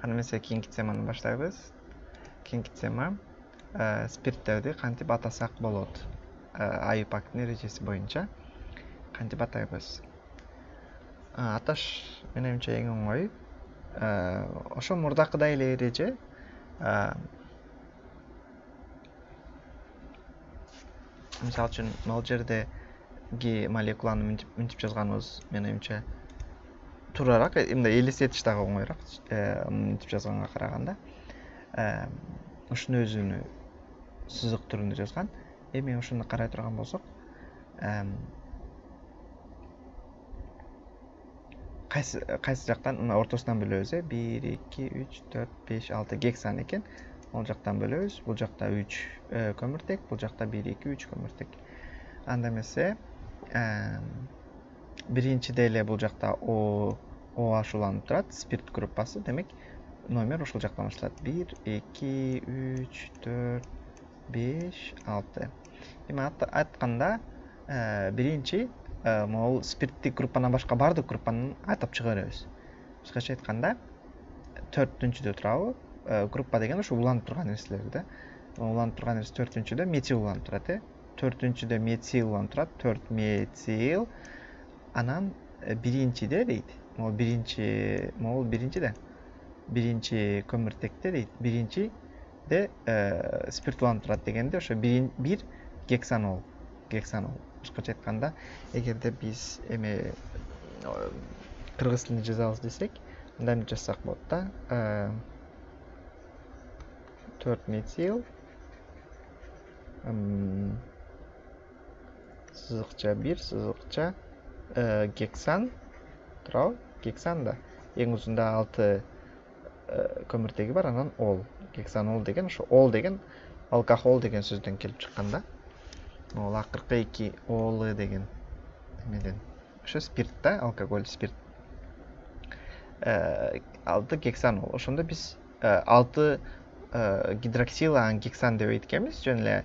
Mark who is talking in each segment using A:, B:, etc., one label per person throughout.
A: Аны эмесе кийинки теманы баштайбыз. Кийинки тема спирттерди кантип атасак болот. IUPAC'тын эрежеси боюнча кантип атайбыз. Аташ менимче эң оңой. Ошо мурдакыдай эле эреже. Мисалы үчүн могул жердеги молекуланы мынтип жазганыбыз менимче туурараак, мындай элестетиш дагы оңоюраак мынтип жазганга караганда. Ушунун өзүнү сызык түрүндө жазган. Эми ушуну карай турган болсок, кайсы жактан мына ортосунан бөлөбүз. 1 2 3 4 5 6 гексан экен. Ол жактан бөлөбүз. Бул жакта 3 көмүртек, бул жакта 1 2 3 көмүртек. Анда эмесе биринчиде эле бул жакта OH уланып турат, спирт группасы. Демек, номер ушул жактан башталат. 1 2 3 4 5 6. Эми айтканда биринчи могул спирттик группанан башка бардык группаны атап чыга беребиз. Башкача айтканда 4-түнчүдө турабы? Группа деген ушу уланып турган нерселер да. Уланып турган нерсе 4-түнчүдө метил уланып турат, 4-түнчүдө метил уланып турат, 4 метил. Анан биринчиде дейт. Могул биринчиде. Биринчи көмүртекте дейт. Биринчиде спирт уланып турат дегенде ошо 1 гексанол. Башкача айтканда, эгерде биз эме кыргыз тилинде жазабыз десек, анда эмне жазсак болот да? 4 метил сызыкча 1 сызыкча гексан турабы? Гексан да. Эң узунда 6 көмүртеги бар, анан ол. Гексанол деген ошо ол деген алкохол деген сөздөн келип чыккан да. Ол акыркы 2 олы деген эмеден. Ошо спирт да, алкоголь, спирт. 6 гексанол. Ошондо биз 6 гидроксил гексан деп айтканбыз. Жөн эле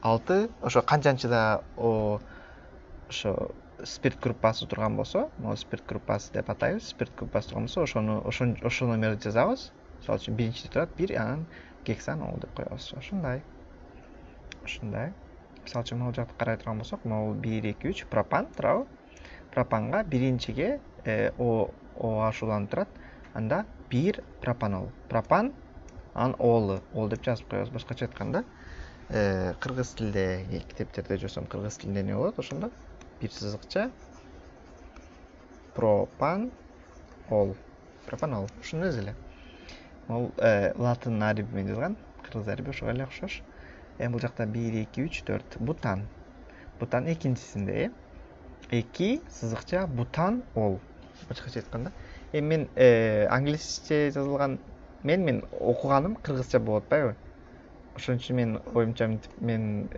A: 6 ошо канчанчыда ошо спирт группасы турган болсо, могу спирт группасы деп атайбыз. Спирт группасы турган болсо, ошо номерди жазабыз. Мисалы үчүн биринчиде турат 1, анан гексанол деп коебуз. Ошондой. Мисалы үчүн могул жакты карай турган болсок, могул 1 2 3 пропан турабы? Пропанга биринчиге OH уланып турат. Анда 1 пропанол. Пропан анан ол деп жазып коебуз. Башкача айтканда, кыргыз тилдеги китептерде жазсам, кыргыз тилинде эмне болот? Ошондо 1 сызыкча пропанол. Ушунун өзү эле. Могул латын ариби менен жазган, кыргыз ариби ошого эле окшош. Бул жакта 1 2 3 4 бутан. Бутан экинчисинде, 2 сызыкча бутан ол. Башкача айтканда, мен англисче жазылган мен окуганым кыргызча болуп атпайбы? Ошон үчүн мен оюмча мен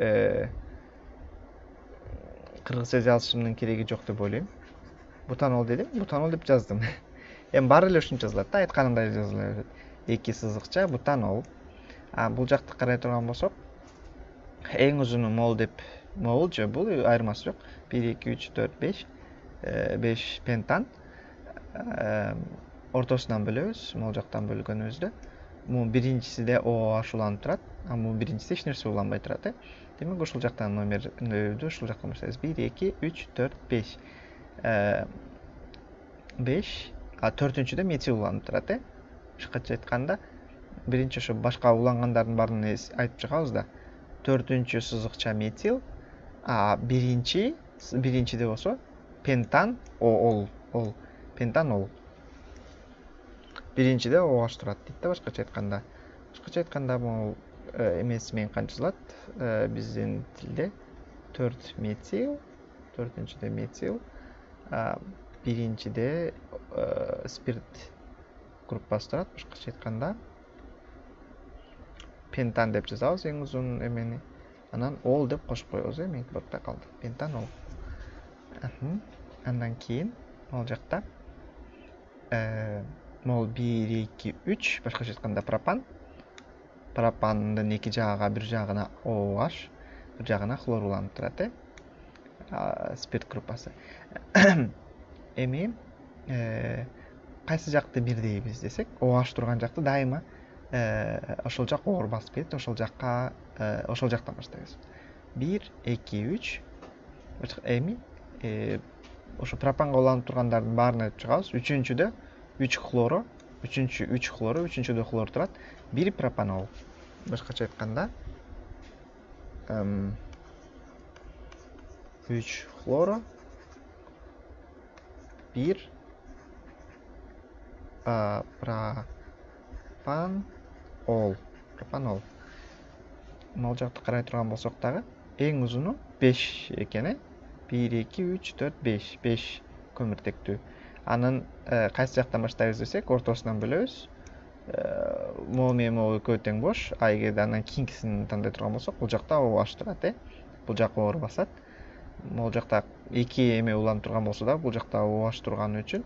A: кыргызча жазышымдын кереги жок деп ойлойм. Бутанол дедим, бутанол деп жаздым. Баары эле ушинтип жазылат да, айтканымдай жазыла берет. 2 сызыкча бутанол. Бул жакты карай турган болсок, эң узуну мол же бул айырмасы жок. 1 2 3 4 5 5 пентан. Ортосунан бөлөбүз, могул жактан бөлгөнүбүздө. Бул биринчисиде OH уланып турат, бул биринчисиде эч нерсе уланбай турат. Демек, ушул жактан номерди ушул жактан баштайбыз. 1 2 3 4 5 5 4-түнчүдө метил уланып турат. Башкача айтканда, биринчи ошо башка улангандардын баарын айтып чыгабыз да. 4-түнчү сызыкча метил, биринчиде болсо пентан ол. Пентанол. Биринчиде OH турат дейт да, башкача айтканда. Башкача айтканда, бул эмеси менен канчалат? Биздин тилде 4 метил, 4-түнчүдө метил, биринчиде спирт группасы турат. Башкача айтканда, пентан деп жазабыз эң узун эмени. Анан ол деп кошуп коебуз, меники бортто калды. Пентанол. Андан кийин могул жакта могул 1 2 3 башкача айтканда пропан. Пропандын эки жагына, бир жагына OH, бир жагына хлор уланып турат. Спирт группасы. Эми кайсы жакты бир дейбиз десек, OH турган жакты дайыма ошол жак оор басып кетет, ошол жактан баштайбыз. 1 2 3 эми ошо пропанга уланып тургандардын баарын айтып чыгабыз. Үчүнчүдө 3 хлоро, үчүнчүдө хлор турат. 1 пропанол. Башкача айтканда 3 хлоро, 1 пропанол. Могул жакты карай турган болсок дагы эң узуну 5 экен. 1 2 3 4 5 көмүртектүү. Анын кайсы жактан баштайбыз десек, ортосунан бөлөбүз. Могул менен могул экөө тең бош. Эгерде андан кийинкисин тандай турган болсок, бул жакта OH турат, бул жак оор басат. Могул жакта 2 эме уланып турган болсо да, бул жакта OH турганы үчүн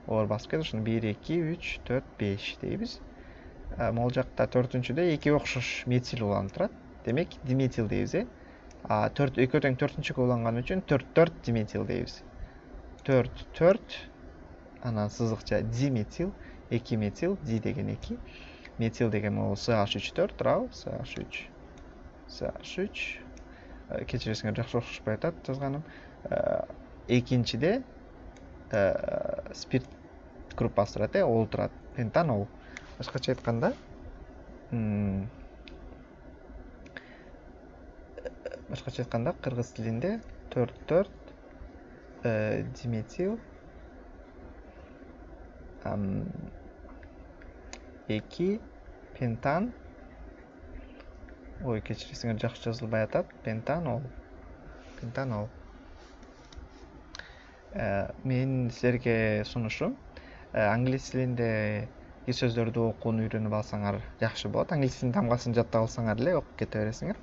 A: оор басып кетет. Ошону 1 2 3 4 5 дейбиз. Могул жакта 4-чүдө 2 окшош метил уланып турат. Демек, диметил дейбиз, экөө тең 4-чүгө уланган үчүн 4 диметил дейбиз. 4 анан сызыкча диметил, 2 метил, ди деген 2, метил деген могул CH3 туурабы? CH3. Кечиресиңер, жакшы окшошпой атат жазганым. Экинчиде спирт группасы турат, ол турат, пентанол. Башкача айтканда, кыргыз тилинде 4 диметил, 2 пентан, кечиресиңер, жакшы жазылбай атат, пентанол. Менин силерге сунушум, англис тилинде сөздөрдү окууну үйрөнүп алсаңар жакшы болот. Англис тилинин тамгасын жаттап алсаңар эле окуп кете бересиңер.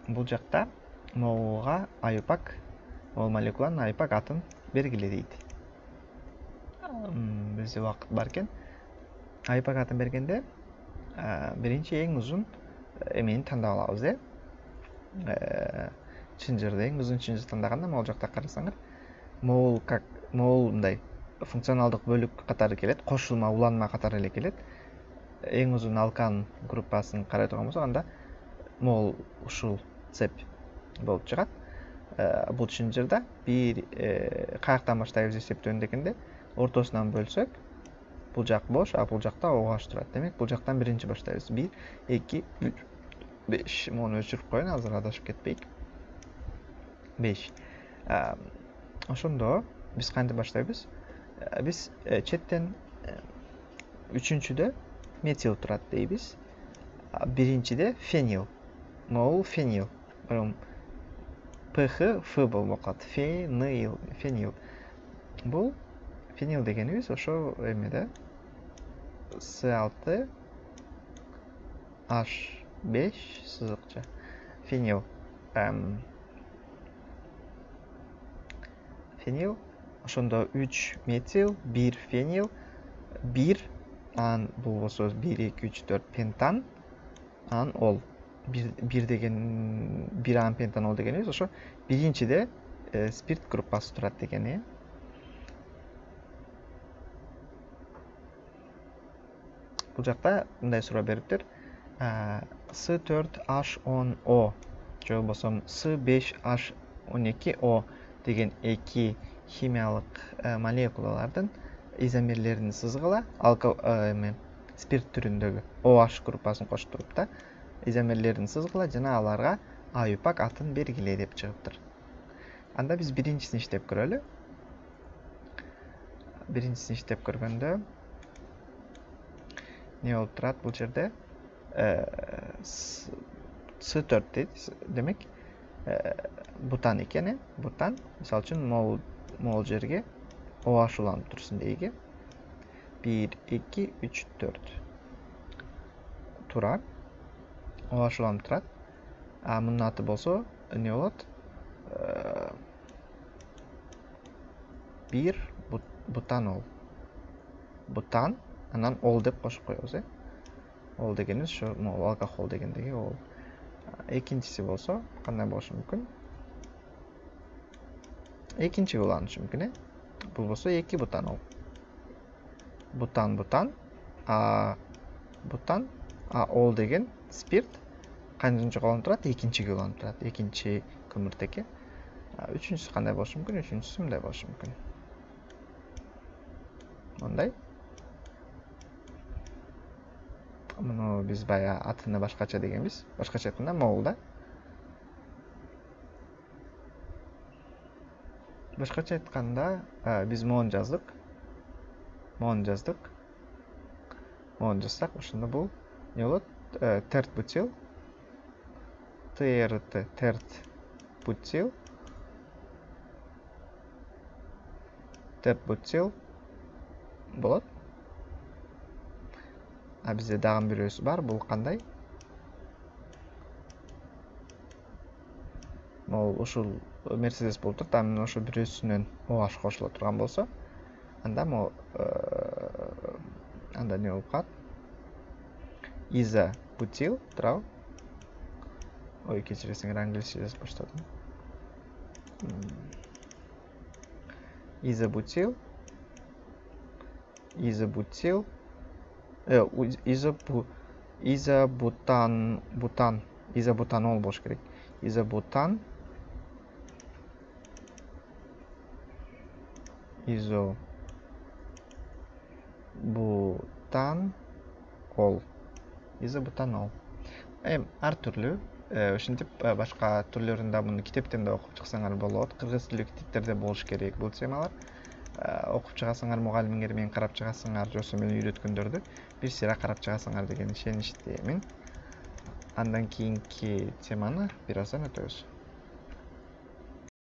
A: Бул жакта могулга аюпак, могул молекуланын аюпак атын бергиле дейт. Бизде убакыт бар экен. Аюпак атын бергенде биринчи эң узун эмени тандап алабыз, чынжырды. Эң узун чынжыр тандаганда могул жакта карасаңар, могул мындай функционалдык бөлүк катары келет, кошулма, уланма катары эле келет. Эң узун алкан группасын карай турган болсок, анда могул ушул цепь болуп чыгат. Бул чынжырда каяктан баштайбыз эсептөөнү дегенде, ортосунан бөлсөк, бул жак бош, бул жакта OH турат. Демек, бул жактан биринчи баштайбыз. 1 2 3 5. Муну өчүрүп коеюн, азыр адашып кетпейик. 5. Ошондо биз кантип баштайбыз? Биз четтен үчүнчүдө метил турат дейбиз. Биринчиде фенил. Могул фенил. ПХ Ф болуп калат. Фенил. Бул фенил дегенибиз ошо эмеде С6 H5 сызыкча. Фенил. Ошондо 3 метил, 1 фенил, 1 бул болсо 1 2 3 4 пентан, ол. 1 деген 1 пентанол дегенибиз ошо биринчиде спирт группасы турат деген. Бул жакта мындай суроо бериптир. S4H10O же болбосо S5H12O деген 2 химиялык молекулалардын изомерлерин сызгыла, спирт түрүндөгү OH группасын коштуруп да, изомерлерин сызгыла жана аларга аюпак атын бергиле деп чыгыптыр. Анда биз биринчисин иштеп көрөлү. Биринчисин иштеп көргөндө не болуп турат бул жерде? S4 дейт. Демек, бутан экен, бутан. Мисалы үчүн могул жерге OH уланып турсун дейги. 1 2 3 4 турат. OH уланып турат. Мунун аты болсо не болот? 1 бутанол. Бутан, анан ол деп кошуп коебуз, Ол дегенибиз ошо могул алкохол дегендеги ол. Экинчиси болсо кандай болушу мүмкүн? Экинчи уланышы мүмкүн, болбосо 2 бутанол. Бутан, бутан, ол деген спирт канчынчы колонуп турат? Экинчиге уланып турат. Экинчи көмүртекке. Үчүнчүсү кандай болушу мүмкүн? Үчүнчүсү мындай болушу мүмкүн. Мындай. Муну биз бая атыны башкача дегенбиз. Башкача айтканда мол да. Башкача айтканда биз мону жаздык. Мону жазсак, ошондо бул не болот? Терт бутил. Терт бутил болот. Бизде дагы бирөөсү бар. Бул кандай? Могул ушул Мерседес болуп турат. Анын ошо бирөөсүнөн OH кошуло турган болсо, анда анда не болуп калат? Изобутил, туурабы? Ой, кечиресиңер, англисче жазып баштадым. Изобутанол болуш керек. Изобутанол. Изобутанол. Ар түрлүү. Ошентип башка түрлөрүн да муну китептен да окуп чыксаңар болот. Кыргыз тилдүү китептерде болуш керек бул темалар. Окуп чыгасыңар, мугалимиңер менен карап чыгасыңар, жоксо мени үйрөткөндөрдү бир сыйра карап чыгасыңар деген ишеничтемин. Андан кийинки теманы бир аздан өтөбүз.